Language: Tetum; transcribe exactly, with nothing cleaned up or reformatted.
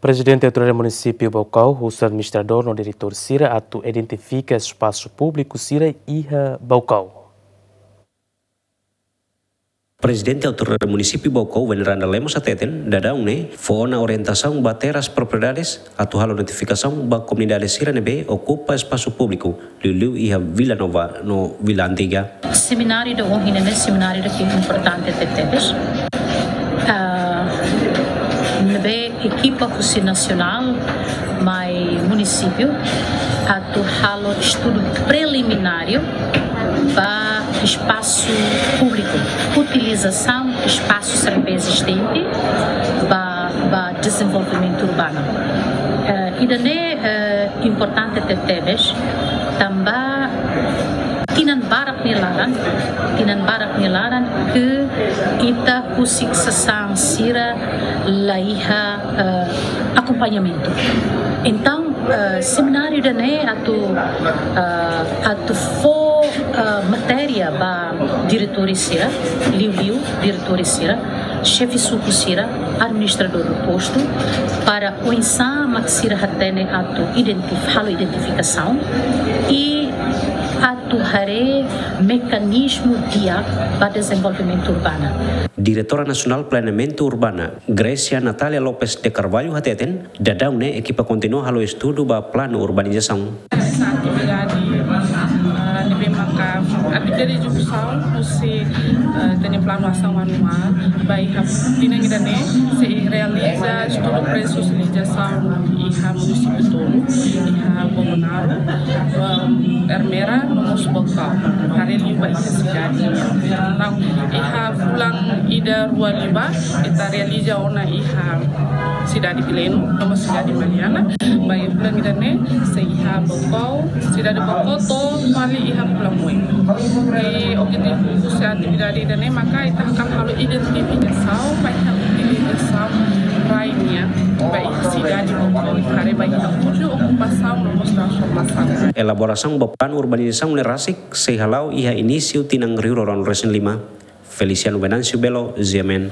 Prezidente Autoridade Munisípiu Baucau husu administradór no diretór sira atu identifika espasu públiku sira iha Baucau. Prezidente Autoridade Munisípiu Baucau, Veneranda Lemos hateten, daudaun ne'e fó ona orientasaun ba Terras Propriedades atu halo notifikasaun ba komunidade sira ne'ebé okupa espasu públiku, liuliu iha Vila Nova no Vila Antiga. Semináriu ida ohin ne'e semináriu ida ke importante tebetebes. Ah, ne'ebé ekipa husi nasionál mai munisípiu atu halo estudu prelimináriu ba espasu públiku, utilizasaun espasu sira ne'ebé ezistente ba, ba dezenvolvimentu urbanu. Eh, ida-ne'e, eh, importante tebetebes, tanba tinan barak nia laran, tinan barak nia laran ke ita husik sasán sira la iha, eh, akompañamentu. Entaun, eh, semináriu ida-ne'e atu, eh, atu fó, eh, matéria ba diretór sira, liuliu diretór sira, xefe suku sira, administradór postu, para oinsá mak sira hatene atu identif-, halo identifikasaun i atu haree mekanizmu di'ak ba dezenvolvimentu urbanu. Diretora Nasionál Planeamentu Urbanu, Grécia Natália Lopes de Carvalho hateten, daudaun ne'e ekipa kontinua halo estudu ba planu urbanizasaun. Atividade, ah, ne'ebé maka atividade ezekusaun husi, ah, ita-nia planu asaun anuál ba iha tinan ida-ne'e sei realiza estudu pré-sosializasaun iha munisípiu tolu, iha Bobonaro, ah, Ermera, no mós Baucau. Haree liu ba iha sidade. Entaun, iha fulan ida rua liubá, ita realiza ona iha sidade Vileno, no mós sidade Maliana, ba iha fulan ida-ne'e, sei iha Baucau, sidade Baucau to'o fali iha Pulamoe. I objetivu husi atividade ida-ne'e maka ita hakarak halo identifikasaun ba iha utilizasaun rai nian ba iha sidade Baucau, haree ba iha uju okupasaun no mós transformasaun. Elaborasaun ba planu urbanizasaun ne'e rasik sei hala'o iha inísiu tinan rihun rua ruanulu resin lima. Feliciano Venâncio Belo, G M N.